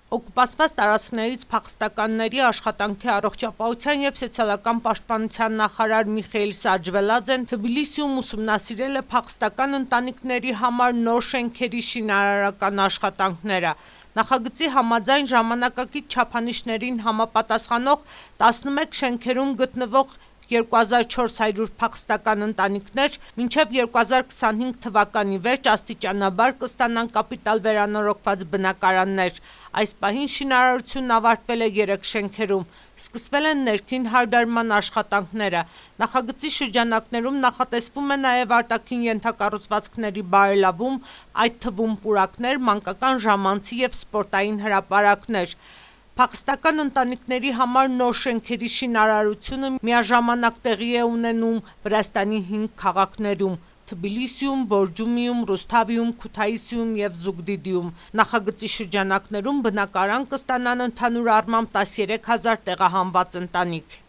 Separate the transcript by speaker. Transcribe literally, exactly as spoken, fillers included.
Speaker 1: Օկուպացված տարածքներից փախստականների աշխատանքի առողջապահության և սոցիալական պաշտպանության նախարար Միխայիլ Սաջվելաձեն Թբիլիսիում ուսումնասիրել է փախստական ընտանիքների համար նոր շենքերի շինարարական աշխատանքները։ Նախագծի համաձայն ժամանակակից չափանիշներին համապատասխանող տասնմեկ շենքերում գտնվող երկու հազար չորս հարյուր փախստական ընտանիքներ մինչև երկու հազար քսանհինգ թվականի վերջ աստիճանաբար կստանան կապիտալ վերանորոգված բնակարաններ։ Այս պահին շինարարությունն ավարտվել է երեք շենքերում։ Սկսվել են ներքին հարդարման աշխատանքները։ Նախագծի շրջանակներում նախատեսվում է նաև արտաքին ենթակառուցվածքների բարելավում, այդ թվում պուրակներ, մանկական ժամանցի և սպորտային հրապարակներ։ Փախստական ընտանիքների համար նոր շենքերի շինարարությունը միաժամանակ տեղի է ունենում Վրաստանի հինգ քաղաքներում՝ Թբիլիսիում, Բորջումիում, Ռուսթավիում, Քութայիսիում և Զուգդիդիում։ Նախագծի շրջանակներում բնակարան կստանան ընդհանուր առմամբ տասներեք հազար տեղահանված ընտանիք։